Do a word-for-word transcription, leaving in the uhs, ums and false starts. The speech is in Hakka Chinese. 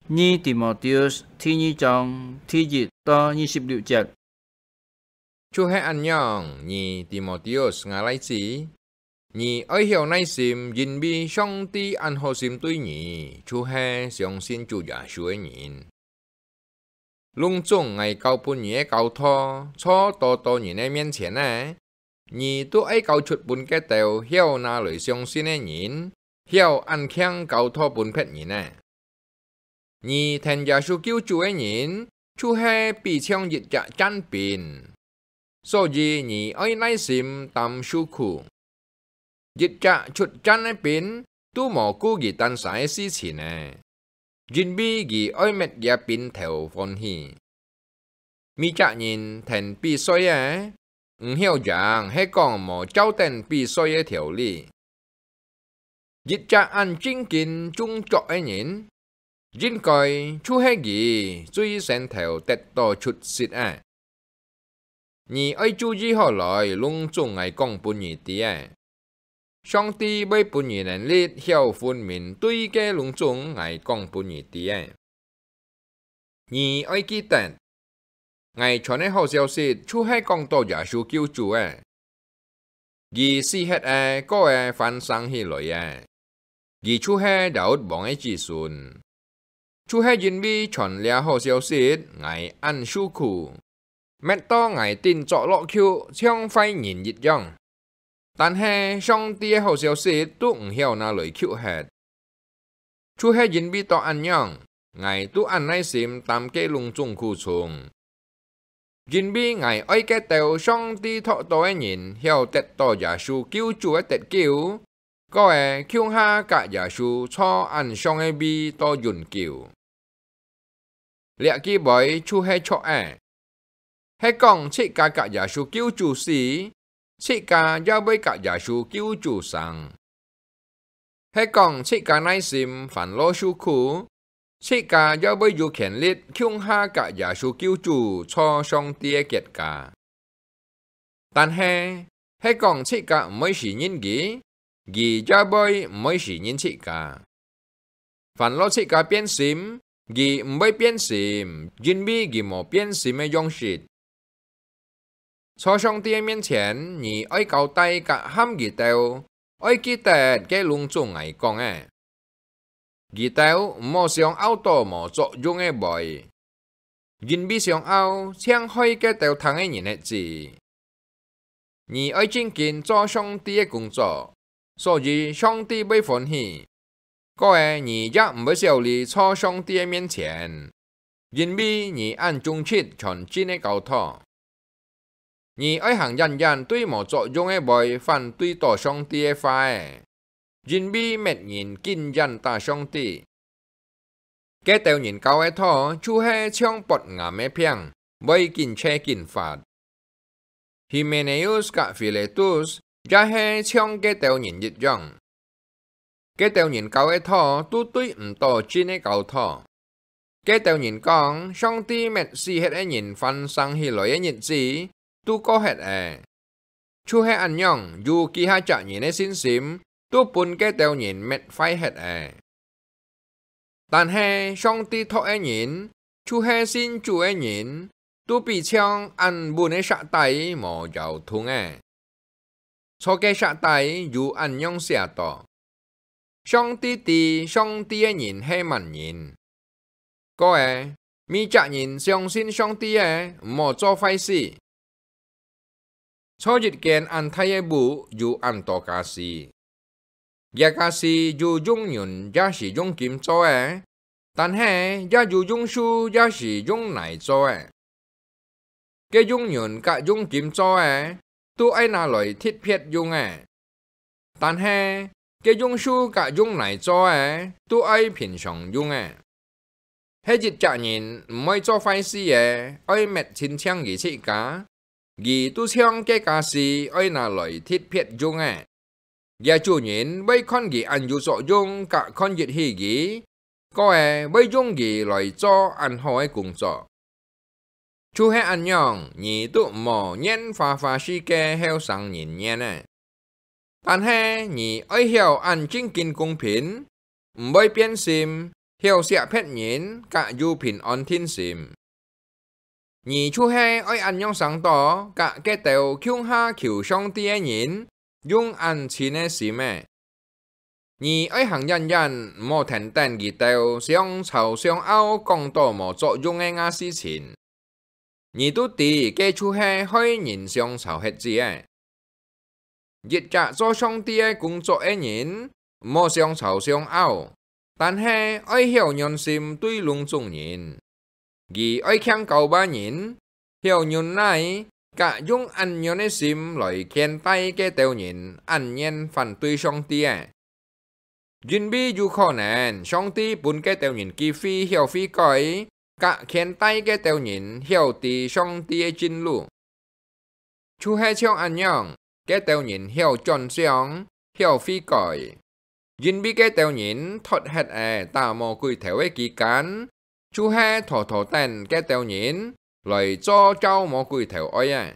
二提摩太第二章第一到二十六節。就係恁樣，二提摩太，吾倈子，你愛曉耐心，因為上帝恁好心對你，就係相信主耶穌个人。攏總𠊎教分你个教導，在多多人个面前呢，你都愛交出分該兜曉拿來相信个人，曉恁慶教導分別人呢。你跈耶穌救主个人，就係比像一隻箭兵，所以你愛耐心擔受苦。一隻出箭个兵，都無顧佢單儕个事情呢，因為佢愛搣厥兵頭歡喜。 每隻人跈比賽个，毋曉贏係講無照等比賽个條例。一隻恁正經中著个人，應該就係佢最先頭得到出息个。你愛注意好來，攏總𠊎講分你知个。上帝會分你能力，曉分明對个攏總𠊎講分你知个。 你愛記得，𠊎傳个好消息就係講到耶穌救主个。佢死忒个，過个翻生起來个，佢就係大衛王个子孫。就係因為傳這好消息，𠊎恁受苦， 搣到𠊎頂著落去像壞人一樣。但係上帝个好消息都毋曉拿來勼忒。就係因為到恁樣，𠊎都恁耐心擔該攏總苦衷。因為𠊎愛該兜上帝擇到个人曉得到耶穌救主个得救，過个共下佮耶穌坐恁上个位到永久。 這句話就係著个，係講自家佮耶穌救主死，自家也會佮耶穌救主生。係講自家耐心煩惱受苦，自家也會有權力共下佮耶穌救主坐上帝个國家。 但係，係講自家毋會承認佢，佢也會毋會承認自家。煩惱自家變心，佢毋會變心，因為佢無變心个樣式。在上帝个面前，你愛交代佮喊佢兜，愛記得該攏總𠊎講个。 佢兜毋好想拗到無作用个話，因為想拗，淨害該兜聽个人忒濟。你愛正經做上帝个工作，所以上帝會歡喜。過个你也毋會少哩在上帝个面前，因為你恁忠直傳真个教導。 你愛行遠遠對無作用个話反對到上帝个話仔，因為搣人緊遠打上帝。該兜人教个道就係像發癌个病，會緊脆緊發。Hymenaeus佮Philetus也係像該兜人一樣。 該兜人教个道都對毋到真个教導。該兜人講，上帝搣死忒个人翻生起來个日子都過忒了。就係恁樣，有幾下隻人个信心都分該兜人搣壞忒了。 但係上帝擇个人，就係信主个人，都比像恁穩个石底無搖動个。在該石底有恁樣寫到：上帝知上帝个人係麼人。過个，每隻人相信上帝个，毋好做壞事。 在一間恁大个屋有恁多家私，這家私有用銀也係用金做个，但係也有用樹也係用泥做个。該用銀佮用金做个，都愛拿來特別用个，但係該用樹佮用泥做个，都愛平常用个。 係一隻人毋會做壞事个，愛搣清淨佢自家，佢都像該家私愛拿來特別用个。這主人會看佢恁有作用，佮看得起佢，過个會用佢來做恁好个工作。就係恁樣，你都毋好怨花花世界後生人怨个。 但係你愛曉恁正經公平，毋會變心，曉惜別人，甲有平安定心。你就係愛恁樣生到，甲該兜共下求上帝个人，用恁親个心仔。你愛行遠遠，毋好跈等佢兜相吵相拗，講到無作用个吾事情。你都知，該就係害人相吵核子仔。一隻做上帝个工作个人，毋好相吵相拗，但係愛曉軟心對攏總人。佢愛擎高把人，曉忍耐，甲用恁樣个心來牽帶該兜人恁願反對上帝个。因為有可能上帝分該兜人機會曉悔改，甲牽帶該兜人曉知上帝个真路。就係像恁樣，該兜人曉轉向，曉悔改。因為該兜人脫忒仔打魔鬼頭个期間，就係妥妥等該兜人來做照魔鬼頭愛个。